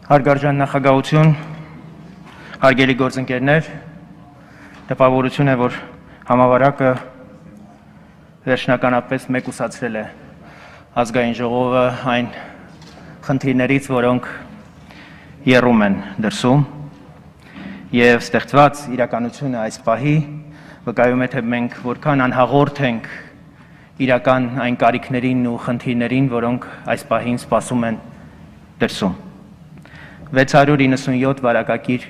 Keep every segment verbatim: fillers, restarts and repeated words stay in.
Հարգարժան նախագահություն, հարգելի գործընկերներ, տպավորություն է, որ համավարակը վերջնականապես մեկուսացրել է ազգային ժողովը այն խնդիրներից, որոնք եռում են դրսում, եւ ստեղծված իրականությունը այս պահի վկայում է, թե մենք որքան անհաղորդ ենք իրական այն կարիքներին ու խնդիրներին, որոնք այս պահին սպասում են դրսում։ վեց հարյուր իննսունյոթ վարակագիր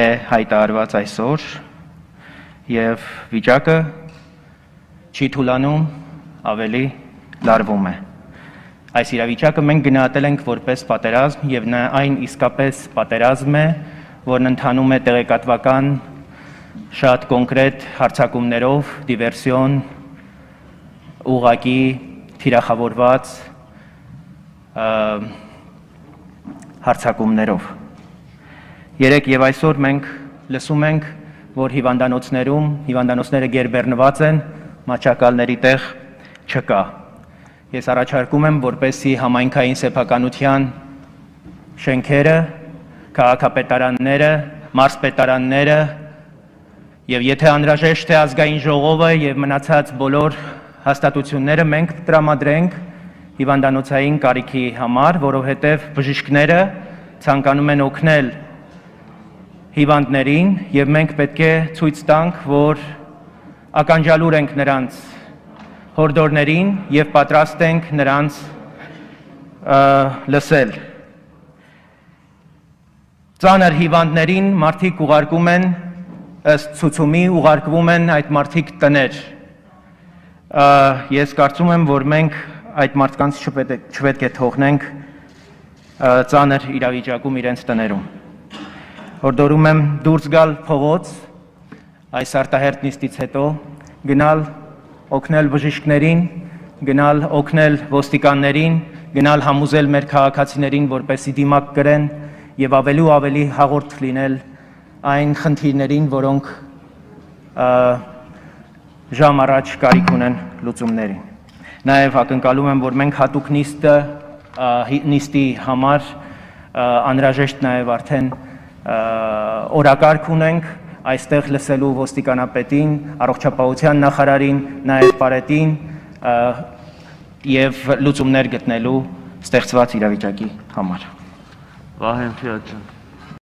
է հայտարարված այսօր եւ վիճակը չի թուլանում, ավելի լարվում է։ Այս իրավիճակը մենք գնահատել ենք որպես պատերազմ եւ նա այն իսկապես պատերազմ է, որն ընթանում է տեղեկատվական շատ կոնկրետ հարձակումներով, դիվերսիոն, ուղղակի թիրախավորված հարձակումներով։ Երեք եւ այսօր մենք լսում ենք, որ հիվանդանոցներում հիվանդանոցները գերբեռնված են, մաչակալների տեղ չկա։ Ես առաջարկում եմ, որպեսզի համայնքային սեփականության շենքերը, քաղաքապետարանները, մարզպետարանները եւ եթե անհրաժեշտ է ազգային ժողովը եւ մնացած բոլոր հաստատությունները մենք տրամադրենք հիվանդանոցային կարիքի համար, որովհետև բժիշկները ցանկանում են օգնել հիվանդներին եւ մենք պետք է ցույց տանք, որ ականջալուր ենք նրանց հորդորներին եւ պատրաստ ենք նրանց լսել։ Ծանր հիվանդներին մարդիկ ուղարկում են ըստ ցուցումի ուղարկվում են այդ մարդիկ տներ։ Ես կարծում եմ, որ մենք այդ մարդկանց չպետք է թողնենք ծանր իրավիճակում իրենց տներում։ Հորդորում եմ դուրս գալ փողոց այս արտահերթ նիստից հետո, գնալ օգնել բժիշկներին, գնալ օգնել ոստիկաններին, գնալ համոզել մեր քաղաքացիներին, որպեսզի դիմակ կրեն եւ ավելի ու ավելի հաղորդ լինել այն խնդիրներին, որոնք ժամ առաջ կարիք ունեն լուծումներին։ Նաև ակնկալում եմ, որ մենք հատուկ նիստը նիստի համար անհրաժեշտ նաև արդեն օրակարգ ունենք, այստեղ լսելու ոստիկանապետին, առողջապահության նախարարին, նաև պարետին եւ լուծումներ գտնելու ստեղծված իրավիճակի համար։ Վահեն Ֆիատ ջան